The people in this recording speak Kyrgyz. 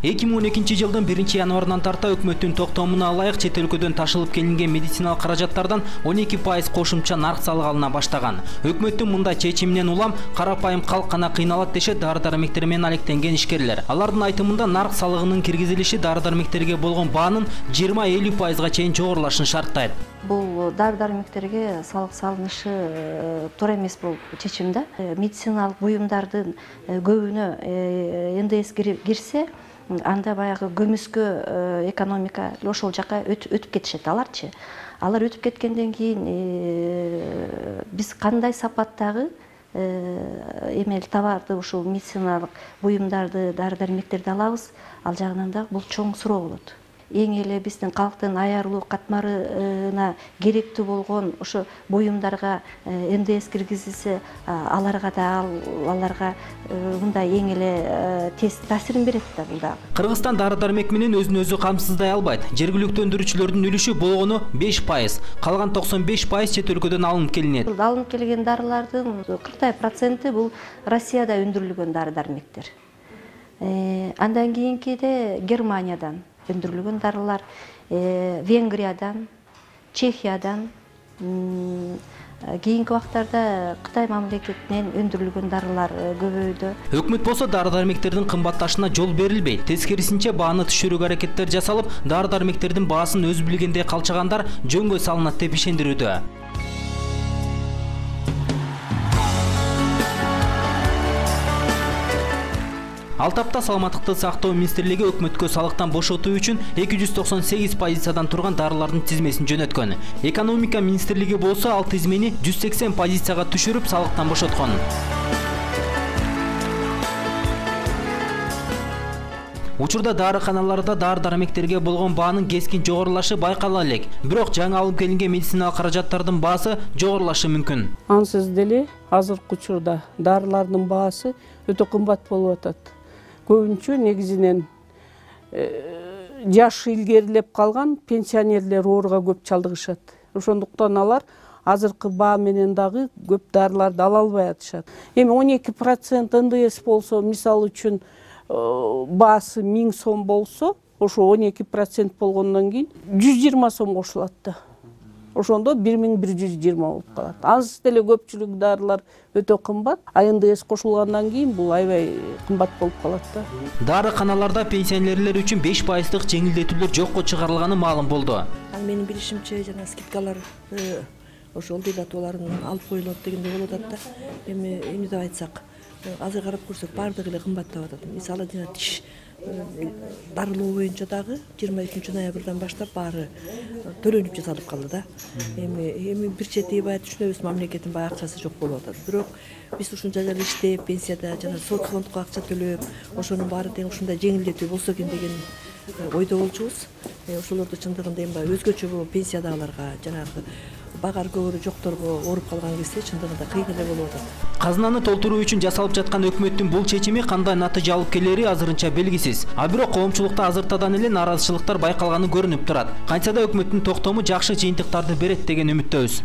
2012-жылдын 1-январынан тарта өкмөттүн токтомуна ылайык чет өлкөдөн ташылып келинген медициналык каражаттардан 12% кошумча нарк салыгы алына баштаган. Өкмөттүн мындай чечиминен улам карапайым калк гана кыйналат дешет дары-дармектер менен алектенген ишкерлер. Алардын айтымында нарк салыгынын киргизилиши дары-дармектерге болгон баанын 20-50%га чейин жогорулашын шарттайт. Бул дары-дармектерге салык салынышы туура эмес бул чечим да. Медициналык буюмдардын көбүнө НДС кирсе, анда баягы көмүскө экономика ошол жака өтүп кетишет аларчы. Алар өтүп кеткенден кийин биз кандай сапаттагы эмел товарды ушул медициналык буюмдарды, дары-дармектерди алабыз, ал жагынан да бул чоң суроо болот. Эң эле биздин калктын аярылуу катмарына керектүү болгон ошо буюмдарга НДС киргизилсе, аларга мындай эң эле тез таасирин берет да бул дагы. Кыргызстан дары-дармек менен өзүн өзү камсыздай албайт. Жергиликтүү өндүрүүчүлөрдүн үлүшү болгону 5%, калган 95% чет өлкөдөн алынып келинет. Алынып келген дарылардын 40% бул Россияда өндүрүлгөн дары-дармектер. Андан кийинкиде Германиядан өндүрүлгөн дарылар, Венгриядан, Чехиядан, кийинки убактарда Кытай мамлекетинен өндүрүлгөн дарылар көбөйдү. Өкмөт болсо дары-дармектердин кымбатташына жол берилбейт. Тескерисинче бааны түшүрүүгө аракеттер жасалып, дары-дармектердин баасын өз билгендей калчагандар жөнгө салынат деп ишендирүүдө. Ал тапта Саламаттыкты сактоо министрлиги өкмөткө салыктан бошотуу үчүн 298 позициядан турган дарылардын тизмесин жөнөткөн. Экономика министрлиги болсо ал тизмени 180 позицияга түшүрүп салыктан бошоткон. Учурда дарыканаларда дары-дармектерге болгон баанын кескин жогорулашы байкала элек. Бирок жаңы алып келинген медициналык каражаттардын баасы жогорулашы мүмкүн. Ансыз деле азыркы учурда дарылардын баасы өтө кымбат болуп атат. Көбүнчө негизинен жашы илгерилеп калган пенсионерлер ооруга көп чалдыгышат. Ошондуктан алар азыркы баа менен дагы көп дарыларды ала албай атышат. Эми 12% НДС болсо, мисалы үчүн баасы 1000 сом болсо, ошо 12% болгондон кийин 120 сом кошулат да. Ошондо 1120 болуп калат. Аз деле көпчүлүк дарылар өтө кымбат, а НДС кошулгандан кийин бул аябай кымбат болуп калат да. Дарыканаларда пенсионерлер үчүн 5%дык жеңилдетүүлөр жокко чыгарылганы маалым болду. Менин билишимче жана скидкалар ошол дебатолорун алып коюлат дегендей болуп атат да. Эми эмне деп айтсак, азыр карап көрсөк баардыгы эле кымбаттап атат. Мисалы жана тиш дарылоо боюнча дагы 22-ноябрдан баштап баары төлөнүп жасалып калды да. Эми бир чети баягы түшүнөбүз, мамлекеттин баягы акчасы жок болуп атат. Бирок биз ушунча жыл иштеп, пенсияда жана соцфондко акча төлөп, ошонун баары тең ушундай жеңилдетүү болсо экен деген ойдо болчубуз. Ошолорду чындыгында эми өзгөчө пенсиядагыларга жанагы багар көбүрө жокторго ооруп калган кезде чындыгында кыйын эле болуп атат. Казынаны толтуруу үчүн жасалып жаткан өкмөттүн бул чечими кандай натыйжа алып келери азырынча белгисиз. А бирок коомчулукта азыртадан эле нааразычылыктар байкалганы көрүнүп турат. Кантса да өкмөттүн токтому жакшы жыйынтыктарды берет деген үмүттөбүз.